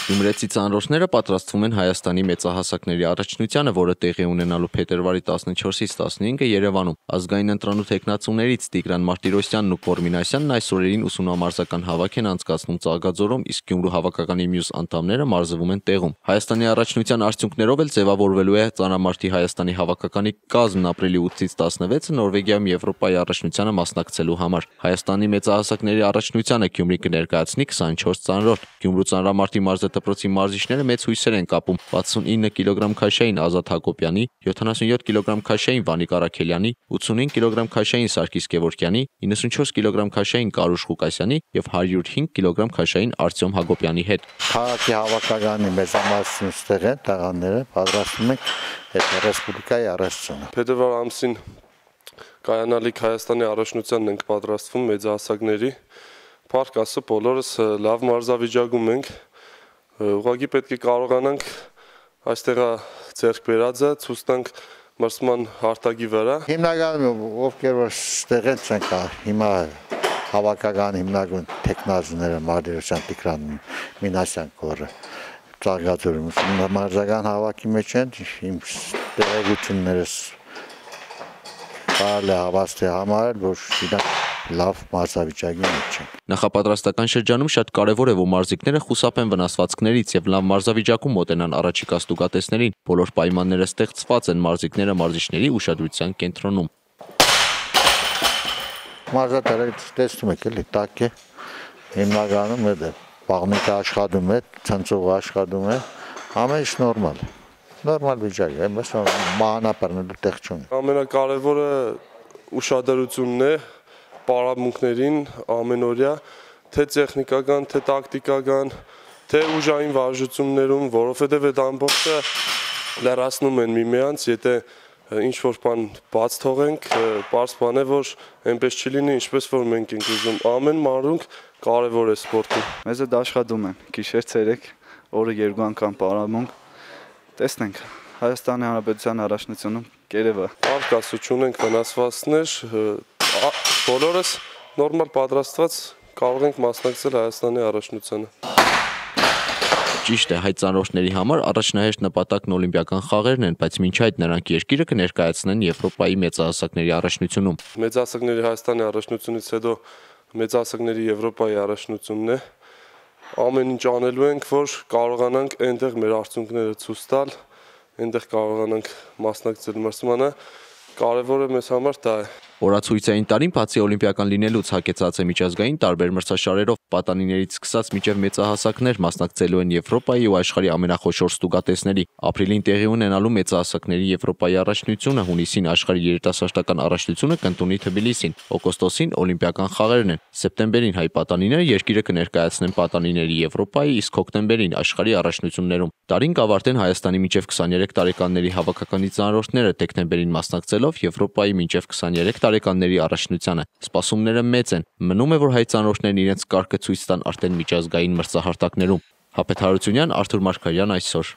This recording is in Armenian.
Գյումրեցի ծանրոցները պատրաստվում են Հայաստանի մեծահասակների առաջնությանը, որը տեղի ունենալու փետրվարի 14-ից 15-ը Երևանում։ Ազգային ընտրանու թեկնածուներից Տիգրան Մարտիրոսյանն ու Կոռ Մինասյանն այս օրերին ուսումնամարզական հավաք են անցկացնում Ծաղկաձորում, իսկ Գյումրու հավաքականի մյուս անդամները մարզվում են տեղում։ Հայաստանի առաջնության արդյունքներով էլ ձևավորվելու է ծանրամարտի Հայաստանի հավաքականի կազմն ապրիլի 8-ից 16-ը Նորվեգիայում Եվրոպայի առաջնությանը մասնակցելու համար։ Հայաստանի մեծահասակների առաջնությանը Գյումրի կներկայացնի 24 ծանրորդ։ Գյումրու ծանրամարտի մարզադպրոցի մարզիչները մեծ հույսեր են կապում 69 կիլոգրամ քաշային Ազատ Հակոբյանի, 77 կիլոգրամ քաշային Վանիկ Արաքելյանի, 85 կիլոգրամ քաշային Սարգիս Գևորգյանի, 94 կիլոգրամ քաշային Կարուշ Ղուկասյանի եւ 105 կիլոգրամ քաշային Արտյոմ Հակոբյանի հետ։ Քաղաքի հավաքականի մեծամասնություններ են տղաները պատրաստում են ռեսպուբլիկայի առաջնությունը։ Փետրվար ամսին կայանալիք Հայաստանի առաջնությանն ենք պատրաստվում մեծահասակների։ Փառք Աստծո բոլորս լավ մարզավիճակում ենք։ Ուղղակի պետք է կարողանանք այստեղ ձեռք բերածը ցույց տանք մարզման հարթակի վրա։ Հիմնականում ովքեր որ ստեղ են ցանկ հիմա հավաքական հիմնական տեխնազները Մարտիրոսյան, Տիգրան Մինասյան կորը Ծաղկաձորում մարզական հավաքի մեջ են իմ տեղեկություններս կարելի է հավաստի համարել, որ իրանք լավ մարզավիճակի մեջ են։ Նախապատրաստական շրջանում շատ կարևոր է, որ մարզիկները խուսափեն վնասվածքներից եւ լավ մարզավիճակում մոտենան առաջիկա ստուգատեսներին։ Բոլոր պայմանները ստեղծված են մարզիկները մարզիչների ուշադրության կենտրոնում։ Մարզատարը տեսնում եք էլի տակ է։ Հիմնականում է բաղնիկը աշխատում է, ցնցողը աշխատում է, ամեն ինչ նորմալ։ Նորմալ վիճակ է, մեզ մանապարնելու տեղ չունի։ Ամենակարևորը ուշադրությունն է պարապմունքներին ամենօրյա, թե տեխնիկական, թե տակտիկական, թե ուժային վարժություններում, որովհետև այդ ամբողջը լրացնում են միմյանց, եթե ինչ-որ բան բաց թողենք, պարզ բան է, որ այնպես չի լինի, ինչպես որ մենք ենք ուզում։ Ամեն մանրուք կարևոր է սպորտում։ Մեզ էլ աշխատում են, գիշեր ցերեկ, օրը 2 անգամ պարապմունք։ Տեսնենք, Հայաստանի Հանրապետության առաջնությունում կերևա։ Փառք Աստծո, չունենք վնասվածքներ, բոլորս նորմալ պատրաստված կարող ենք մասնակցել Հայաստանի առաջնությանը։ Ճիշտ է, հայ ծանրոցների համար առաջնահերթ նպատակն օլիմպիական խաղերն են, բայց մինչ այդ նրանք երկիրը կներկայացնեն Եվրոպայի մեծահասակների առաջնությունում։ Մեծահասակների Հայաստանի առաջնությունից հետո մեծահասակների Եվրոպայի առաջնությունն է։ Ամեն ինչ անելու ենք, որ կարողանանք այնտեղ մեր արդյունքները ցույց տալ, այնտեղ կարողանանք մասնակցել մարզմանը։ Կարևորը մեզ համար դա է։ Օրացույցային տարին բացի օլիմպիական լինելուց հագեցած է միջազգային տարբեր մրցաշարերով, պատանիներից սկսած մինչև մեծահասակներ մասնակցելու են Եվրոպայի ու աշխարհի ամենախոշոր ստուգատեսների։ Ապրիլին տեղի ունենալու մեծահասակների Եվրոպայի առաջնությունը, հունիսին աշխարհի երիտասարդական առաջնությունը կընդունի Թբիլիսին, օգոստոսին օլիմպիական խաղերն են։ Սեպտեմբերին հայ պատանիները երկիրը կներկայացնեն պատանիների Եվրոպայի, իսկ հոկտեմբերին աշխարհի առաջնություններում։ Տարին կավարտեն Հայաստանի մինչև 23 տարեկանների հավաքականի ծանրորդները, դեկտեմբերին մասնակցելով Եվրոպայի մինչև 23 տարեկանների առաջնությանը։ Սպասումները մեծ են։ Մնում է, որ հայ ծանրորդներն իրենց կարգը ցույց տան արդեն միջազգային մրցահարտակներում։ Հապետ Հարությունյան, Արթուր Մարգարյան այսօր։